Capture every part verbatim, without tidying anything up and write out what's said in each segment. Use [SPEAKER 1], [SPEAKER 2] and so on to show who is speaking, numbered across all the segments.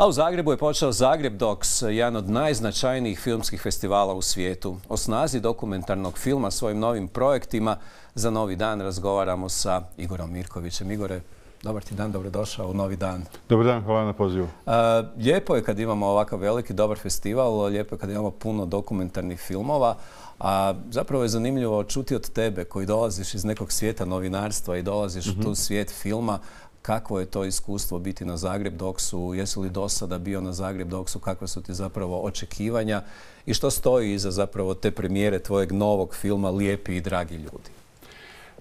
[SPEAKER 1] A u Zagrebu je počeo Zagreb Docs, jedan od najznačajnijih filmskih festivala u svijetu. O snazi dokumentarnog filma svojim novim projektima za Novi dan razgovaramo sa Igorom Mirkovićem. Igore, dobar ti dan, dobrodošao u Novi dan.
[SPEAKER 2] Dobar dan, hvala na pozivu.
[SPEAKER 1] A, lijepo je kad imamo ovakav veliki, dobar festival, lijepo je kad imamo puno dokumentarnih filmova, a zapravo je zanimljivo čuti od tebe koji dolaziš iz nekog svijeta novinarstva i dolaziš mm-hmm. u tu svijet filma. Kakvo je to iskustvo biti na Zagreb Docsu? Jesi li do sada bio na Zagreb Docsu? Kakve su ti zapravo očekivanja? I što stoji iza zapravo te premijere tvojeg novog filma Lijepi i dragi ljudi?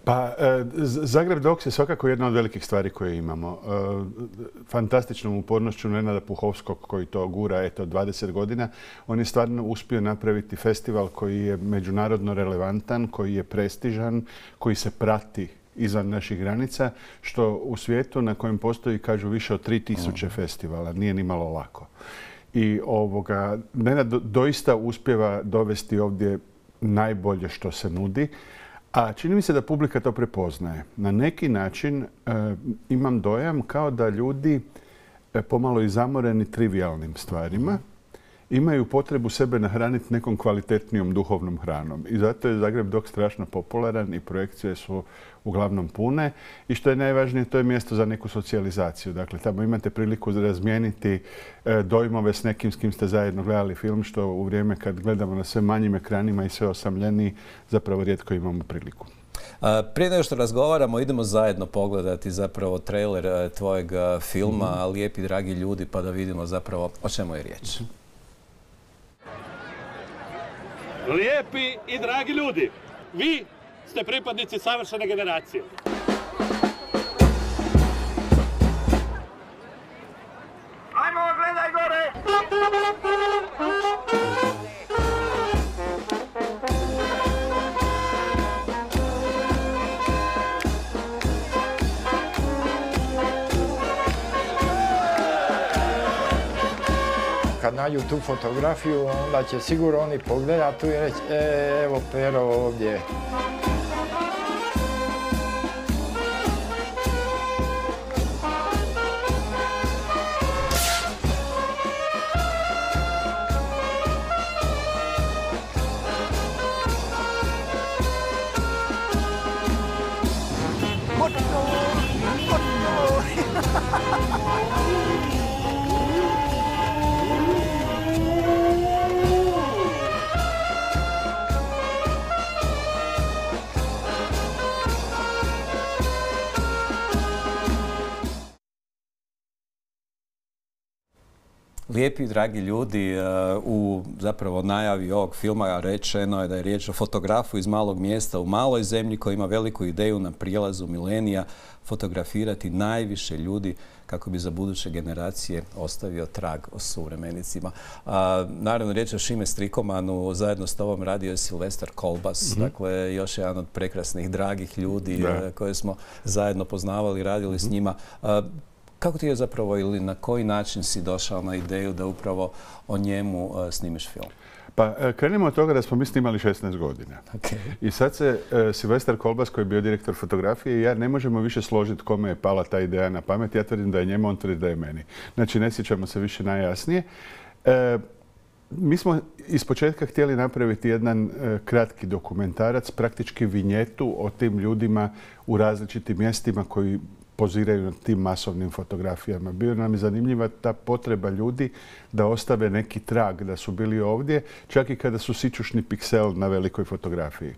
[SPEAKER 2] Pa, e, Zagreb Docs je svakako jedna od velikih stvari koje imamo. E, fantastičnom upornošću Nenada Puhovskog koji to gura eto dvadeset godina. On je stvarno uspio napraviti festival koji je međunarodno relevantan, koji je prestižan, koji se prati izvan naših granica, što u svijetu na kojem postoji, kažu, više od tri tisuće festivala. Nije ni malo lako. I ovoga, Nenad doista uspijeva dovesti ovdje najbolje što se nudi, a čini mi se da publika to prepoznaje. Na neki način e, imam dojam kao da ljudi e, pomalo i zamoreni trivialnim stvarima imaju potrebu sebe nahraniti nekom kvalitetnijom duhovnom hranom. I zato je Zagreb Docs strašno popularan i projekcije su uglavnom pune. I što je najvažnije, to je mjesto za neku socijalizaciju. Dakle, tamo imate priliku razmijeniti e, dojmove s nekim s kim ste zajedno gledali film, što u vrijeme kad gledamo na sve manjim ekranima i sve osamljeniji, zapravo rijetko imamo priliku.
[SPEAKER 1] A, prije nego što razgovaramo, idemo zajedno pogledati zapravo trailer a, tvojeg a, filma mm-hmm. Lijepi dragi ljudi, pa da vidimo zapravo o čemu je riječ.
[SPEAKER 3] Lijepi i dragi ljudi, vi ste pripadnici savršene generacije. Ajmo, gledaj gore!
[SPEAKER 4] Kad nađu tu fotografiju, onda će sigurno oni pogledati tu i reći, e, evo Pero ovdje.
[SPEAKER 1] Lijepi, dragi ljudi, u zapravo najavi ovog filma rečeno je da je riječ o fotografu iz malog mjesta u maloj zemlji koji ima veliku ideju na prijelazu milenija fotografirati najviše ljudi kako bi za buduće generacije ostavio trag o suvremenicima. A, naravno, riječ je o Šime Strikomanu, zajedno s tobom radio je Silvestar Kolbas, mm-hmm. dakle još jedan od prekrasnih, dragih ljudi da. koje smo zajedno poznavali, radili mm-hmm. s njima. A, Kako ti je zapravo ili na koji način si došao na ideju da upravo o njemu uh, snimiš film?
[SPEAKER 2] Pa krenimo od toga da smo mi snimali šesnaest godina.
[SPEAKER 1] Okay.
[SPEAKER 2] I sad se uh, Silvestar Kolbas, koji je bio direktor fotografije, i ja ne možemo više složiti kome je pala ta ideja na pamet. Ja tvrdim da je njemu, on tvrdi da je meni. Znači, ne sjećamo se više najjasnije. Uh, mi smo ispočetka htjeli napraviti jedan uh, kratki dokumentarac, praktički vinjetu o tim ljudima u različitim mjestima koji poziraju na tim masovnim fotografijama. Bio nam je zanimljiva ta potreba ljudi da ostave neki trag da su bili ovdje, čak i kada su sićušni piksel na velikoj fotografiji.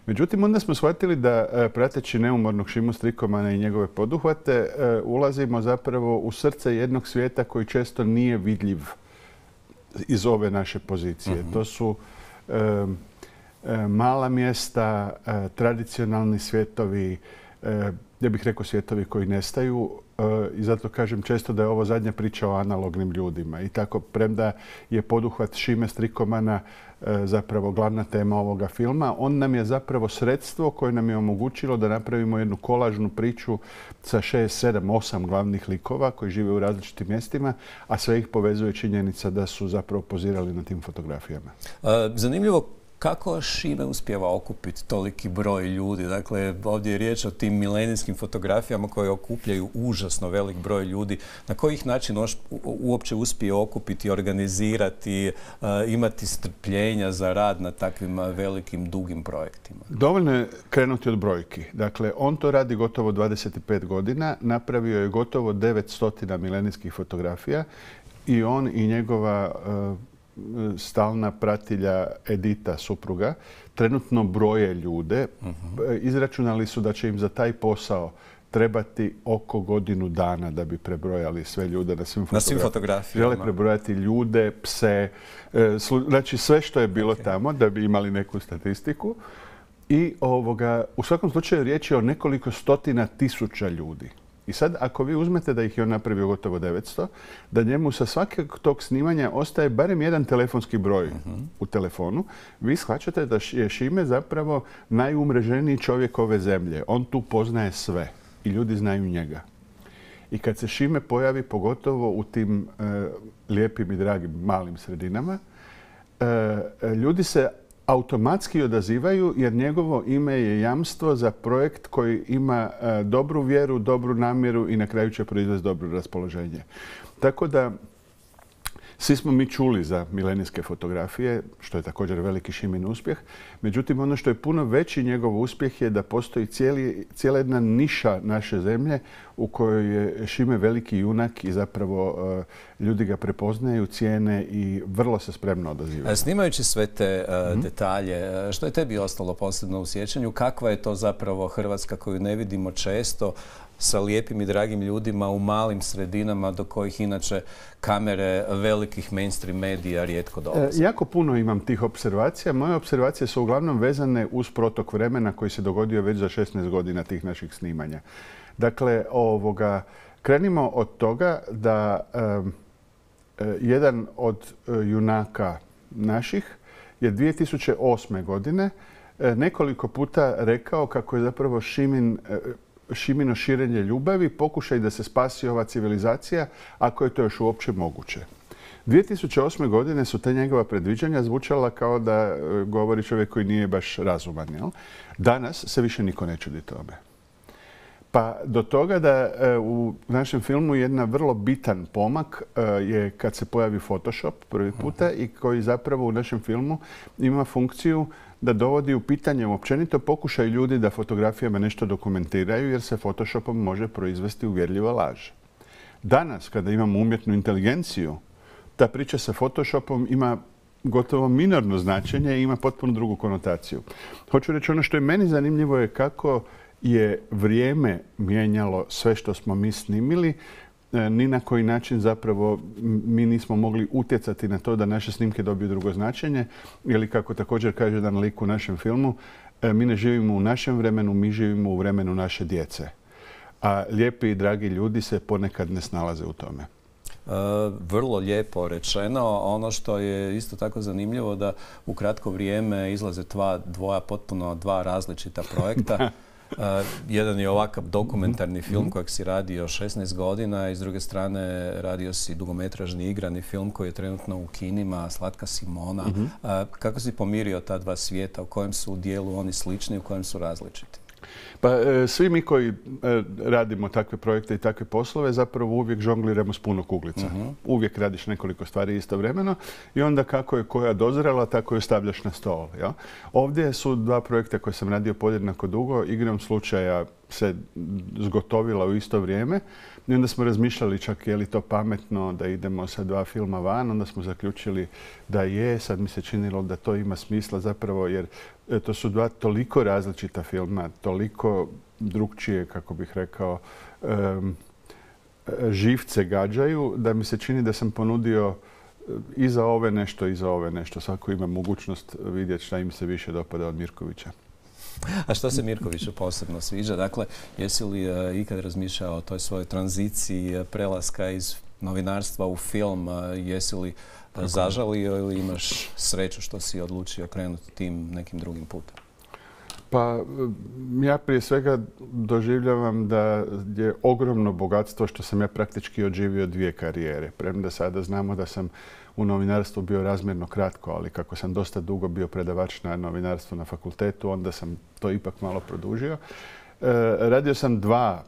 [SPEAKER 2] Međutim, onda smo shvatili da, prateći neumornog Šimu Strikomana i njegove poduhvate, ulazimo zapravo u srce jednog svijeta koji često nije vidljiv iz ove naše pozicije. Mm-hmm. To su um, mala mjesta, tradicionalni svijetovi, ja bih rekao svijetovi koji nestaju i zato kažem često da je ovo zadnja priča o analognim ljudima. I tako, premda je poduhvat Šime Strikomana zapravo glavna tema ovoga filma, on nam je zapravo sredstvo koje nam je omogućilo da napravimo jednu kolažnu priču sa šest, sedam, osam glavnih likova koji žive u različitim mjestima, a sve ih povezuje činjenica da su zapravo pozirali na tim fotografijama.
[SPEAKER 1] Zanimljivo Kako Šime uspijeva okupiti toliki broj ljudi? Dakle, ovdje je riječ o tim milenijskim fotografijama koje okupljaju užasno velik broj ljudi. Na kojih način uopće uspije okupiti, organizirati, imati strpljenja za rad na takvim velikim, dugim projektima?
[SPEAKER 2] Dovoljno je krenuti od brojki. Dakle, on to radi gotovo dvadeset pet godina, napravio je gotovo devetsto milenijskih fotografija i on i njegova stalna pratilja Edita, supruga, trenutno broje ljude. Uh-huh. Izračunali su da će im za taj posao trebati oko godinu dana da bi prebrojali sve ljude na svim,
[SPEAKER 1] na svim fotografijama.
[SPEAKER 2] Žele prebrojati ljude, pse, znači sve što je bilo okay. tamo da bi imali neku statistiku. I ovoga, u svakom slučaju riječ je o nekoliko stotina tisuća ljudi. I sad, ako vi uzmete da ih je on napravio gotovo devetsto, da njemu sa svakog tog snimanja ostaje barem jedan telefonski broj uh-huh. u telefonu, vi shvaćate da je Šime zapravo najumreženiji čovjek ove zemlje. On tu poznaje sve i ljudi znaju njega. I kad se Šime pojavi, pogotovo u tim e, lijepim i dragim malim sredinama, e, ljudi se automatski odazivaju jer njegovo ime je jamstvo za projekt koji ima e, dobru vjeru, dobru namjeru i na kraju će proizvesti dobro raspoloženje. Tako da svi smo mi čuli za milenijske fotografije, što je također veliki Šimin uspjeh. Međutim, ono što je puno veći njegov uspjeh je da postoji cijeli, cijela jedna niša naše zemlje u kojoj je Šime veliki junak i zapravo uh, ljudi ga prepoznaju, cijene i vrlo se spremno odazivaju.
[SPEAKER 1] Snimajući sve te uh, mm-hmm. detalje, što je tebi ostalo posebno u sjećanju? Kakva je to zapravo Hrvatska koju ne vidimo često, sa lijepim i dragim ljudima u malim sredinama do kojih inače kamere velikih mainstream medija rijetko dolaze?
[SPEAKER 2] E, jako puno imam tih observacija. Moje observacije su uglavnom vezane uz protok vremena koji se dogodio već za šesnaest godina tih naših snimanja. Dakle, ovoga, krenimo od toga da um, jedan od uh, junaka naših je dvije tisuće osme. godine uh, nekoliko puta rekao kako je zapravo Šimin uh, Šimino širenje ljubavi, pokušaj da se spasi ova civilizacija, ako je to još uopće moguće. dvije tisuće osme. godine su te njegova predviđanja zvučala kao da govori čovjek koji nije baš razuman. Jel? Danas se više niko ne čudi tome. Pa do toga da u našem filmu jedna vrlo bitan pomak je kad se pojavi Photoshop prvi puta i koji zapravo u našem filmu ima funkciju da dovodi u pitanje općenito pokušaj ljudi da fotografijama nešto dokumentiraju jer se Photoshopom može proizvesti uvjerljiva laž. Danas, kada imamo umjetnu inteligenciju, ta priča sa Photoshopom ima gotovo minorno značenje i ima potpuno drugu konotaciju. Hoću reći, ono što je meni zanimljivo je kako je vrijeme mijenjalo sve što smo mi snimili. Ni na koji način zapravo mi nismo mogli utjecati na to da naše snimke dobiju drugo značenje. Ili kako također kaže jedan lik u našem filmu, mi ne živimo u našem vremenu, mi živimo u vremenu naše djece. A lijepi i dragi ljudi se ponekad ne snalaze u tome.
[SPEAKER 1] Uh, vrlo lijepo rečeno. Ono što je isto tako zanimljivo da u kratko vrijeme izlaze dva, dvoja potpuno dva različita projekta. Uh, jedan je ovakav dokumentarni film mm-hmm. kojeg si radio šesnaest godina i s druge strane radio si dugometražni igrani film koji je trenutno u kinima, Slatka Simona. Mm-hmm. Uh, kako si pomirio ta dva svijeta? U kojem su u dijelu oni slični, u kojem su različiti?
[SPEAKER 2] Pa e, svi mi koji e, radimo takve projekte i takve poslove zapravo uvijek žongliramo s puno kuglica. Uh-huh. Uvijek radiš nekoliko stvari istovremeno i onda kako je koja dozrela, tako je stavljaš na stol. Ja? Ovdje su dva projekta koje sam radio podjednako dugo. Igrom slučaja se zgotovila u isto vrijeme i onda smo razmišljali čak je li to pametno da idemo sa dva filma van. Onda smo zaključili da je. Sad mi se činilo da to ima smisla zapravo jer to su dva toliko različita filma, toliko drukčije, kako bih rekao, um, živce gađaju, da mi se čini da sam ponudio i za ove nešto i za ove nešto. Svako ima mogućnost vidjeti šta im se više dopada od Mirkovića.
[SPEAKER 1] A što se Mirkoviću posebno sviđa? Dakle, jesi li uh, ikad razmišljao o toj svojoj tranziciji uh, prelaska iz novinarstva u film? Uh, jesi li uh, zažalio ili imaš sreću što si odlučio krenuti tim nekim drugim putem?
[SPEAKER 2] Pa ja prije svega doživljavam da je ogromno bogatstvo što sam ja praktički odživio dvije karijere. Premda sada znamo da sam u novinarstvu bio razmjerno kratko, ali kako sam dosta dugo bio predavač na novinarstvu na fakultetu, onda sam to ipak malo produžio. E, radio sam dva,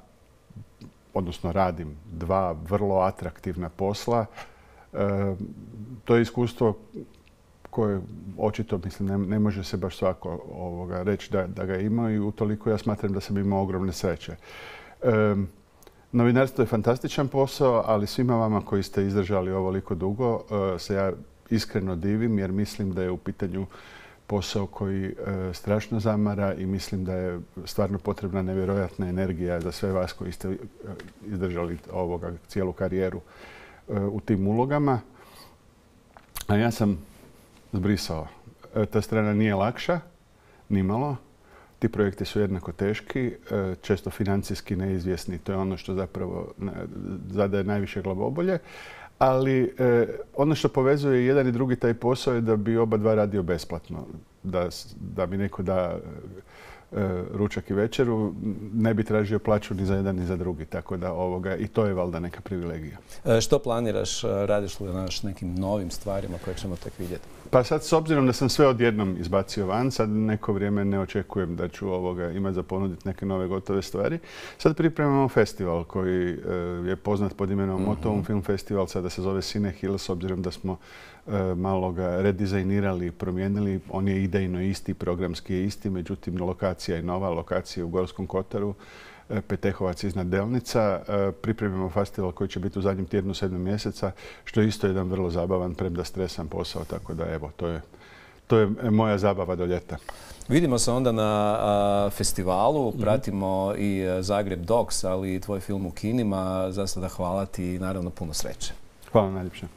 [SPEAKER 2] odnosno radim dva vrlo atraktivna posla. E, to je iskustvo koje očito, mislim, ne, ne može se baš svako ovoga reći da, da ga ima i utoliko ja smatram da sam imao ogromne sreće. E, novinarstvo je fantastičan posao, ali svima vama koji ste izdržali ovoliko dugo e, se ja iskreno divim jer mislim da je u pitanju posao koji e, strašno zamara i mislim da je stvarno potrebna nevjerojatna energija za sve vas koji ste e, izdržali ovoga cijelu karijeru e, u tim ulogama. A ja sam zbrisao. E, ta strana nije lakša, nimalo. Ti projekti su jednako teški, e, često financijski neizvjesni. To je ono što zapravo ne, zadaje najviše glavobolje. Ali e, ono što povezuje jedan i drugi taj posao je da bi oba dva radio besplatno. Da, da mi neko da e, ručak i večeru, ne bi tražio plaću ni za jedan ni za drugi. Tako da ovoga, i to je valjda neka privilegija.
[SPEAKER 1] E, što planiraš? Radiš li na nekim novim stvarima koje ćemo tek vidjeti?
[SPEAKER 2] Pa sad, s obzirom da sam sve odjednom izbacio van, sad neko vrijeme ne očekujem da ću ovoga imati za ponuditi neke nove gotove stvari. Sad pripremamo festival koji e, je poznat pod imenom mm-hmm. Motown Film Festival, sada se zove Cine Hill, s obzirom da smo e, malo ga redizajnirali i promijenili. On je idejno isti, programski je isti, međutim lokacija je nova, lokacija je u Gorskom kotaru, Petehovac iznad Delnica. Pripremimo festival koji će biti u zadnjem tjednu sedmog mjeseca, što je isto jedan vrlo zabavan, premda stresan posao, tako da evo, to je, to je moja zabava do ljeta.
[SPEAKER 1] Vidimo se onda na a, festivalu, pratimo mm-hmm. i Zagreb Docs, ali i tvoj film u kinima. Za sada hvala ti i naravno puno sreće.
[SPEAKER 2] Hvala najljepše.